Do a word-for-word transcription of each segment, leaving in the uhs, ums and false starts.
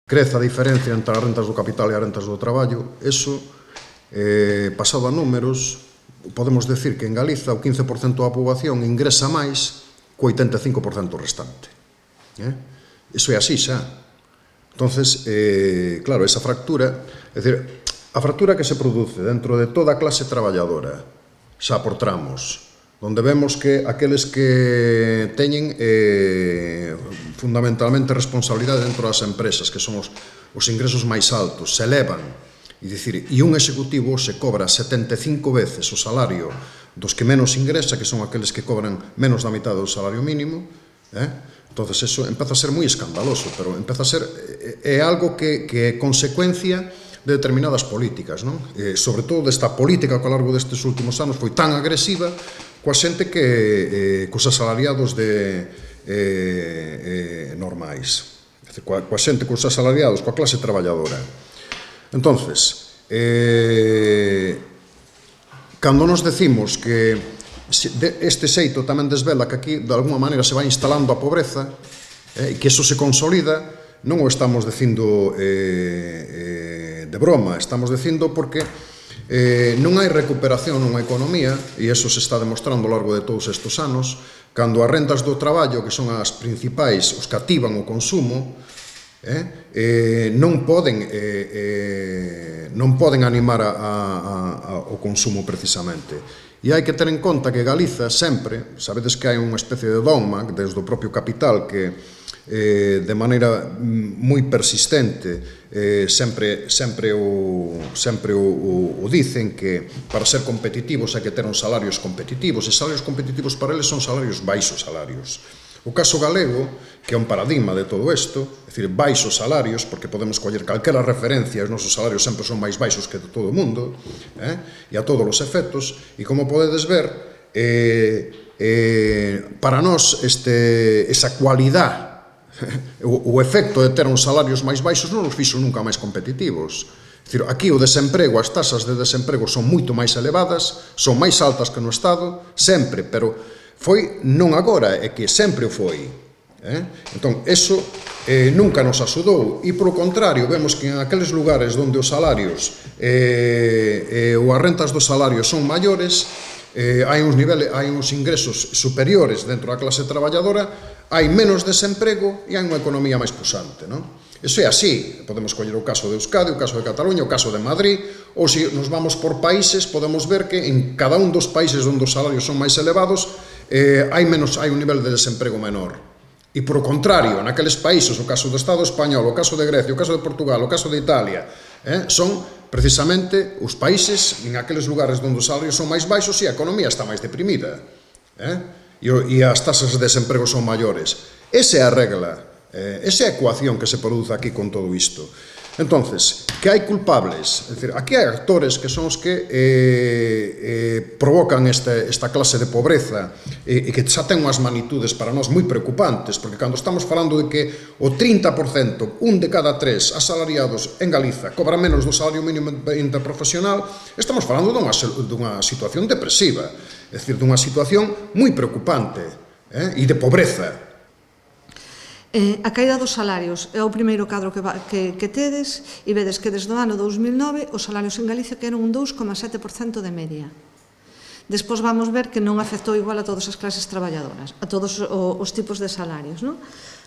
crece a diferencia entre as rentas do capital e as rentas do traballo, eso, eh, pasado a números, podemos decir que en Galiza o quince por cento da poboación ingresa máis co oitenta e cinco por cento restante. Eh? Iso é así xa. Entonces, eh, claro, esa fractura, é dicir, a fractura que se produce dentro de toda a clase traballadora, xa por tramos, onde vemos que aqueles que teñen eh, fundamentalmente responsabilidade dentro das empresas, que son os, os ingresos máis altos, se elevan, e dicir, e un executivo se cobra setenta e cinco veces o salario dos que menos ingresa, que son aqueles que cobran menos da mitad do salario mínimo, eh? Entonces eso empeza a ser moi escandaloso, pero empeza a ser, é, é algo que, que é consecuencia de determinadas políticas, non? Eh, sobre todo desta política que ao largo destes últimos anos foi tan agresiva coa xente que, eh, cos asalariados de, eh, eh, normais, coa, coa xente, cos asalariados, coa clase traballadora. Entonces, eh, cando nos decimos que este xeito tamén desvela que aquí, de alguma maneira, se vai instalando a pobreza, e eh, que eso se consolida, non o estamos dicindo eh, eh, de broma, estamos dicindo porque Eh, non hai recuperación nunha economía, e iso se está demostrando ao largo de todos estes anos, cando as rentas do traballo, que son as principais, os que activan o consumo, eh, eh, non poden eh, eh, non poden animar a, a, a, o consumo precisamente. E hai que ter en conta que Galiza sempre, sabedes que hai unha especie de dogma desde o propio capital que Eh, de maneira moi persistente eh, sempre, sempre, o, sempre o, o, o dicen que para ser competitivos hai que ter uns salarios competitivos, e salarios competitivos para eles son salarios baixos salarios. O caso galego, que é un paradigma de todo isto, é dicir, baixos salarios, porque podemos coller calquera referencia, os nosos salarios sempre son máis baixos que de todo o mundo, eh, e a todos os efectos, e como podedes ver, eh, eh, para nós este, esa cualidade, o, o efecto de ter uns salarios máis baixos non nos fixo nunca máis competitivos. Dicir, aquí o desemprego, as tasas de desemprego son moito máis elevadas, son máis altas que no Estado, sempre, pero foi non agora, é que sempre o foi. Eh? Entón, eso eh, nunca nos axudou, e polo contrario, vemos que en aqueles lugares onde os salarios eh, eh, ou as rentas dos salarios son maiores, eh, hai uns niveles, hai uns ingresos superiores dentro da clase traballadora, hai menos desemprego e hai unha economía máis pusante, non? Iso é así, podemos coller o caso de Euskadi, o caso de Cataluña, o caso de Madrid, ou se nos vamos por países, podemos ver que en cada un dos países onde os salarios son máis elevados, eh, hai menos, hai un nivel de desemprego menor. E por o contrario, naqueles países, o caso do Estado español, o caso de Grecia, o caso de Portugal, o caso de Italia, eh, son precisamente os países en aqueles lugares onde os salarios son máis baixos e a economía está máis deprimida. Eh? E as tasas de desemprego son maiores. Esa é a regla, esa é a ecuación que se produce aquí con todo isto. Entonces, que hai culpables, é dicir, aquí hai actores que son os que eh, eh, provocan este, esta clase de pobreza e, e que xa ten unhas magnitudes para nós moi preocupantes, porque cando estamos falando de que o trinta por cento, un de cada tres asalariados en Galiza cobra menos do salario mínimo interprofesional, estamos falando dunha, dunha situación depresiva, é dicir, dunha situación moi preocupante, eh, e de pobreza. Eh, a caída dos salarios é o primeiro cadro que, va, que, que tedes, e vedes que desde o ano dous mil nove os salarios en Galicia que eran un dous coma sete por cento de media. Despois vamos ver que non afectou igual a todas as clases traballadoras, a todos o, os tipos de salarios, non?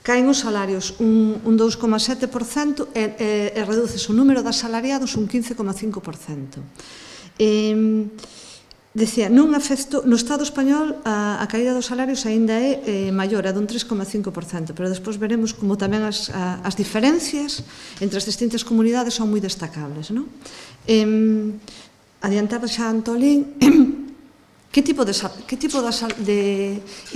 Caen os salarios un, un dous coma sete por cento e, e, e reduces o número de asalariados un quince coma cinco por cento. Eh, Decía, non afecto, no Estado español a, a caída dos salarios aínda é eh, maior, é dun tres coma cinco por cento, pero despois veremos como tamén as, a, as diferencias entre as distintas comunidades son moi destacables, non? Eh, adiantaba xa Antolín, que tipo de, que tipo de, de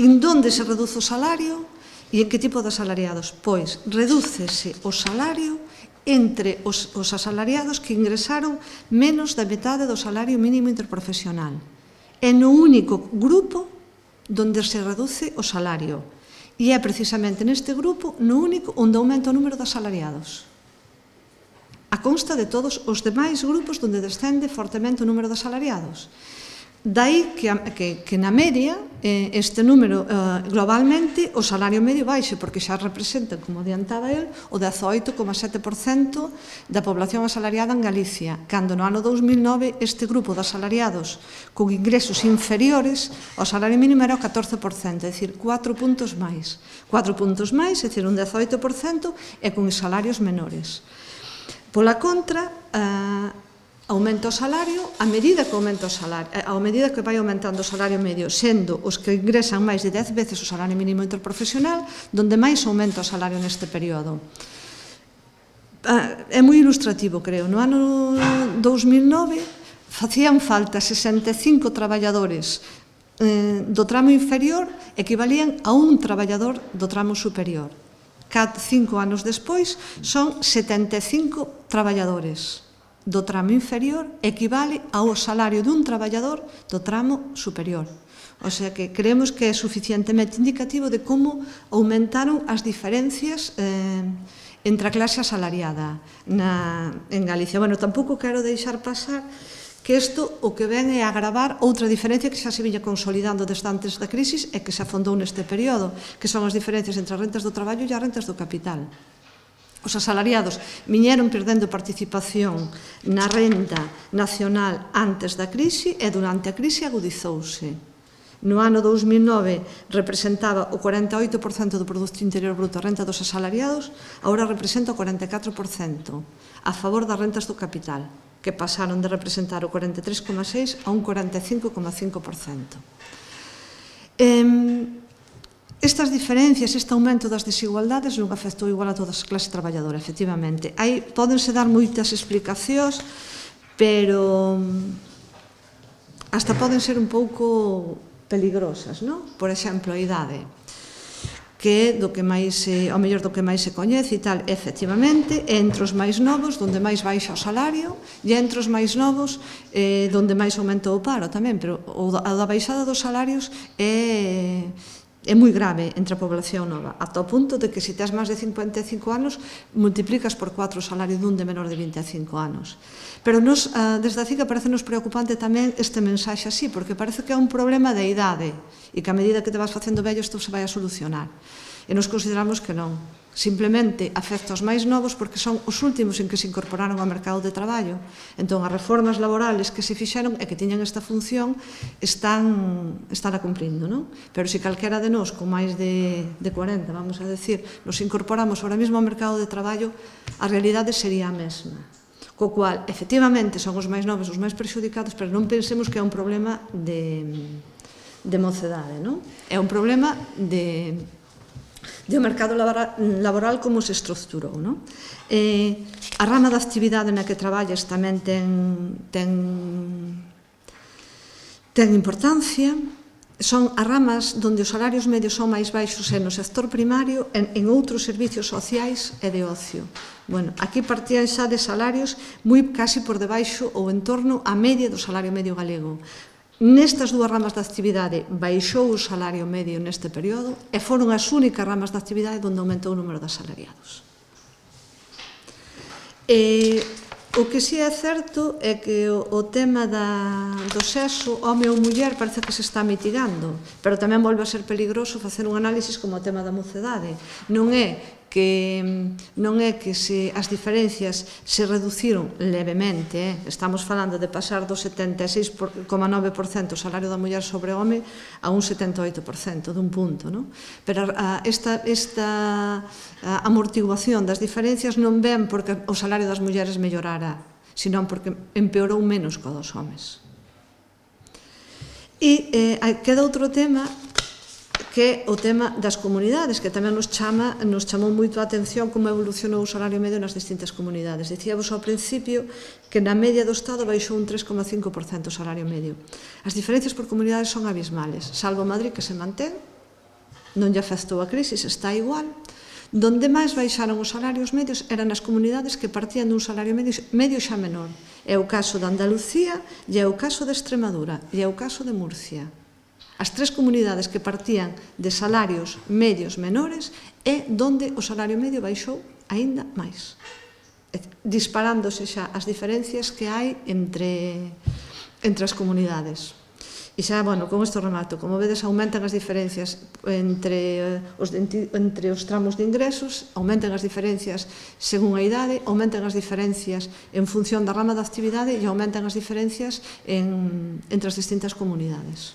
en donde se reduce o salario e en que tipo de asalariados? Pois, redúcese o salario entre os, os asalariados que ingresaron menos da metade do salario mínimo interprofesional. É no único grupo donde se reduce o salario. E é precisamente neste grupo no único onde aumenta o número de asalariados. A consta de todos os demais grupos donde descende fortemente o número de asalariados. Dai que, que, que na media eh, este número eh, globalmente o salario medio baixe porque xa representa, como adiantaba el, o dezaoito coma sete por cento da población asalariada en Galicia, cando no ano dous mil nove este grupo de asalariados con ingresos inferiores ao salario mínimo era o catorce por cento, é dicir, cuatro puntos máis. cuatro puntos máis, é dicir, un dezaoito por cento e con salarios menores. Pola contra, eh, aumenta o salario, a medida que aumenta o salario, a medida que vai aumentando o salario medio, sendo os que ingresan máis de dez veces o salario mínimo interprofesional, donde máis aumenta o salario neste período. É moi ilustrativo, creo. No ano dous mil nove facían falta sesenta e cinco traballadores do tramo inferior, equivalían a un traballador do tramo superior. Cada cinco anos despois son setenta e cinco traballadores do tramo inferior, equivale ao salario dun traballador do tramo superior. O sea que creemos que é suficientemente indicativo de como aumentaron as diferencias eh, entre a clase asalariada na, en Galicia. Bueno, tampouco quero deixar pasar que isto o que ven é agravar outra diferencia que xa se viña consolidando desde antes da crisis e que se afondou neste período, que son as diferencias entre as rentas do traballo e as rentas do capital. Os asalariados viñeron perdendo participación na renda nacional antes da crise e durante a crise agudizouse. No ano dous mil nove representaba o cuarenta e oito por cento do Produto Interior Bruto a renta dos asalariados, agora representa o cuarenta e catro por cento a favor das rentas do capital, que pasaron de representar o cuarenta e tres coma seis por cento a un cuarenta e cinco coma cinco por cento. Eh, Estas diferencias, este aumento das desigualdades non afectou igual a toda a clase traballadora, efectivamente. Aí pódense dar moitas explicacións, pero hasta poden ser un pouco peligrosas, non? Por exemplo, a idade, que é do que máis, ao mellor do que máis se coñece e tal, efectivamente, entre os máis novos, donde máis baixa o salario, e entre os máis novos, eh, donde máis aumentou o paro tamén, pero a da baixada dos salarios é... é moi grave entre a población nova, ata o punto de que se tes máis de cincuenta e cinco anos multiplicas por cuatro o salario dun de menor de vinte e cinco anos. Pero nos, desde a C I C A parece nos preocupante tamén este mensaxe así, porque parece que é un problema de idade e que a medida que te vas facendo vello isto se vai a solucionar. E nos consideramos que non. Simplemente afecta aos máis novos porque son os últimos en que se incorporaron ao mercado de traballo. Entón, as reformas laborales que se fixeron e que tiñan esta función están, están a cumprindo, non? Pero se calquera de nós, con máis de, de cuarenta, vamos a decir, nos incorporamos ahora mesmo ao mercado de traballo, a realidade sería a mesma. Co cual, efectivamente, son os máis novos os máis perxudicados, pero non pensemos que é un problema de, de mocedade, non? É un problema de... do mercado laboral como se estructurou. A rama da actividade na que traballas tamén ten importancia. Son as ramas onde os salarios medios son máis baixos no sector primario, en outros servicios sociais e de ocio. Bueno, aquí partían xa de salarios moi casi por debaixo ou en torno á media do salario medio galego. Nestas dúas ramas da actividade baixou o salario medio neste período e foron as únicas ramas da actividade onde aumentou o número de asalariados. O que si é certo é que o tema do sexo, home ou muller, parece que se está mitigando, pero tamén volve a ser peligroso facer un análisis como o tema da mocedade. Non é que non é que as diferencias se reduciron levemente, estamos falando de pasar do setenta e seis coma nove por cento o salario da muller sobre o home a un setenta e oito por cento dun punto, non? Pero esta amortiguación das diferencias non ven porque o salario das mulleres mellorara, senón porque empeorou menos que o dos homes. E queda outro tema que é o tema das comunidades, que tamén nos chama, nos chamou moito a atención como evolucionou o salario medio nas distintas comunidades. Dicíamos ao principio que na media do Estado baixou un tres coma cinco por cento o salario medio. As diferencias por comunidades son abismales, salvo Madrid, que se mantén, non lle afectou a crise, está igual. Donde máis baixaron os salarios medios eran as comunidades que partían dun salario medio xa menor. É o caso de Andalucía, e é o caso de Extremadura, e é o caso de Murcia. As tres comunidades que partían de salarios medios menores é donde o salario medio baixou aínda máis, disparándose xa as diferencias que hai entre as comunidades. E xa, bueno, con isto remato, como vedes, aumentan as diferencias entre os, entre os tramos de ingresos, aumentan as diferencias según a idade, aumentan as diferencias en función da rama da actividade e aumentan as diferencias en, entre as distintas comunidades.